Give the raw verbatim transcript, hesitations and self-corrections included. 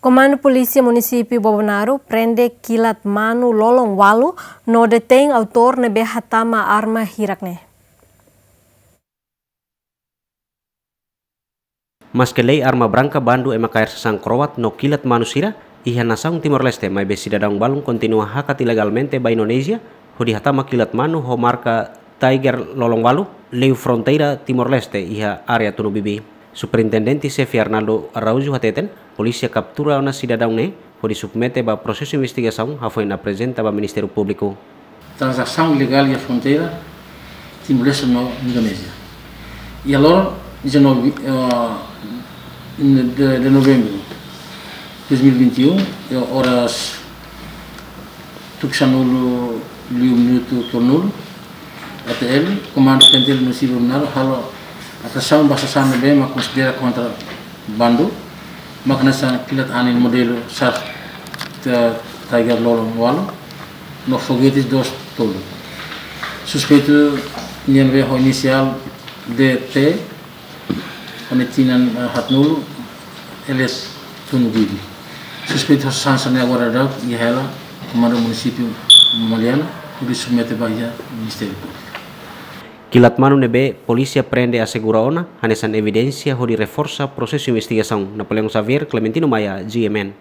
Komandu Polísia Munisípiu Bobonaro prende kilat manu lolon ualu no detein autór ne'ebé hatama arma hirak ne'e. Maske lei arma branka, bandu, ema kaer sasán kroat no kilat manu sira iha nasaun Timor-Leste, maibé sidadaun balun kontinua hakat ilegalmente ba Indonézia hodi hatama kilat manu ho marka Tiger lolon ualu, liu fronteira Timor-Leste iha área Tunubibi. Superintendente Xefe Arnaldo Araújo hateten, polísia kaptura ona sidadaun ne'e hodi submete ba prosesu investigasaun, hafoin aprezenta ba Ministériu Públiku. Tranzasaun ilegál iha fronteira Timor-Leste no Indonézia. Iha loron dezanove, eh, de, de novembru dois mil e vinte e um, eh, oras tuku sanulu liu minutu tolunulu, A T L, Komandu P N T L Munisípiu Bobonaro halo apreasaun ba sasán ne'ebé mak konsidera kontrabandu, mak hanesan kilat anin modelu Shark Tiger lolon ualu no fogetes dois tolu. Suspeitu nian ne'ebé ho inisiál D T, ho tinan, eh, haatnulu, alias Tunubibi. Suspeitu sasán sira-ne'e agora daudaun iha hela Komandu Munisípiu Maliana, hodi submete ba iha Ministériu Públiku. Kilat manu ne'ebé polísia prende asegura ona hanesan evidénsia hodi reforsa prosesu investigasaun. Napoleão Xavier, Clementino Maia, G M N.